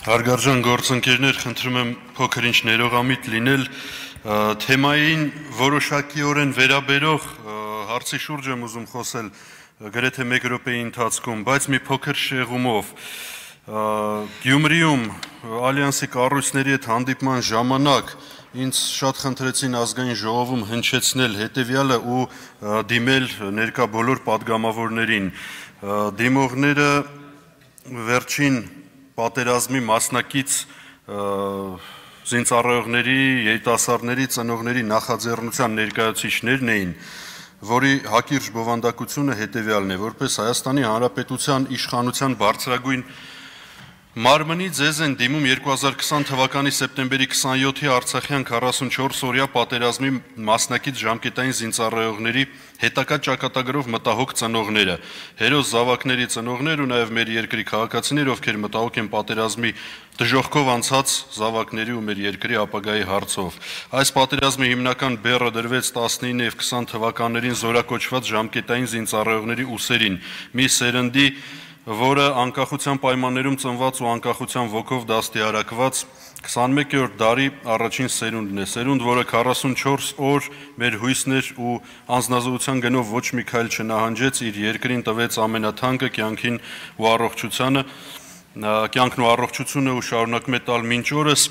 Հարգարժան գործընկերներ, խնդրում եմ փոքր ինչ ներողամիտ լինել, թեմային որոշակիորեն վերաբերող հարցի շուրջ եմ ուզում խոսել գրեթե 1 րոպեի ընթացքում, բայց մի փոքր շեղումով։ Գյումրիում Ալյանսի կառույցների հետ հանդիպման ժամանակ ինձ շատ խնդրեցին ազգային ժողովում հնչեցնել հետևյալը ու դիմել ներկա բոլոր պատգամավորներին։ Դիմողները վերջին պատերազմի մասնակից զինծառայողների, երիտասարդների, ծնողների նախաձեռնության ներկայացուցիչներն էին, որի հակիրճ բովանդակությունը հետևյալն է, որպես Հայաստանի Հանրապետության իշխանության բարձրագույն մարմնի ձեզ են դիմում 2020 թվականի սեպտեմբերի 27-ի Արցախյան 44-օրյա պատերազմի մասնակից ժամկետային զինծառայողների հետագա ճակատագրով մտահոգ ծնողները, հերոս զավակների ծնողներ ու նաև մեր երկրի քաղաքացիներ, ովքեր մտահոգ են պատերազմի դժոխքով անցած զավակների ու մեր երկրի ապագայի հարցով։ Այս պատերազմի հիմնական բեռը դրվեց 19 եւ 20 թվականներին զորակոչված ժամկետային զինծառայողների ուսերին, մի սերնդի, որը անկախության պայմաններում ծնված ու անկախության ոգով դաստիարակված 21-րդ դարի առաջին սերունդն է, սերունդ, որը 44 օր մեր հույսներ ու անձնազոհության գնով ոչ մի քայլ չնահանջեց, իր երկրին տվեց ամենաթանկը կյանքն ու առողջությունը ու շարունակում է տալ մինչ օրս,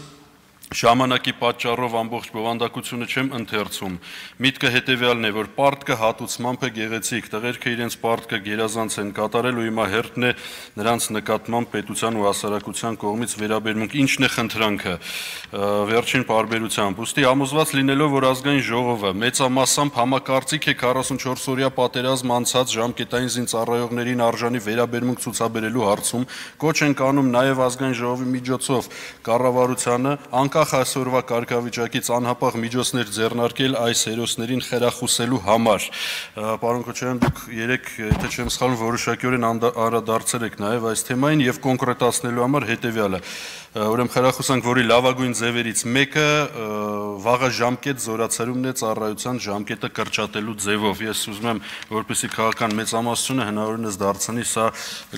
ժամանակի պատճառով ամբողջ բովանդակությունը չեմ ընթերցում, միտքը հետևյալն է, որ պարտքը հատուցմամբ է գեղեցիկ, տղերքը իրենց պարտքը գերազանց են կատարել ու հիմա հերթն է նրանց նկատմամբ պետության ու հասարակության կողմից վերաբերմունք, ինչն է խնդրանքը վերջին պարբերությամբ, ուստի համոզված լինելով, որ ազգային ժողովը մեծամասամբ համակարծիք է 44-օրյա պատերազմ անցած ժամկետային զինծառայողներին արժանի վերաբերմունք ցուցաբերելու հարցում, կոչ ենք անում նաև ազգային ժողովի միջոցով կառավարությանը անկախ այսօրվա կարգավիճակից անհապաղ միջոցներ ձեռնարկել այս հերոսներին խրախուսելու համար։ Պարոն Քոչարյան, դուք երեք, եթե չեմ սխալվում, որոշակիորեն անդրադարձել եք նաև այս թեմային եւ կոնկրետացնելու համար հետեւյալը։ Ուրեմն խրախուսանք, որի լավագույն ձևերից մեկը վաղաժամկետ զորացարումն է ծառայության ժամկետը կրճատելու ձևով։ Ես ուզում եմ, որպեսզի քաղաքական մեծամասնությունը հնարավորինս դարձնի սա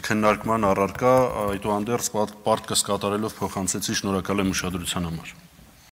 քննարկման առարկա, այդուհանդերձ պարտքս կատարելով փոխանցեցի, շնորհակալ եմ ուշադրության համար։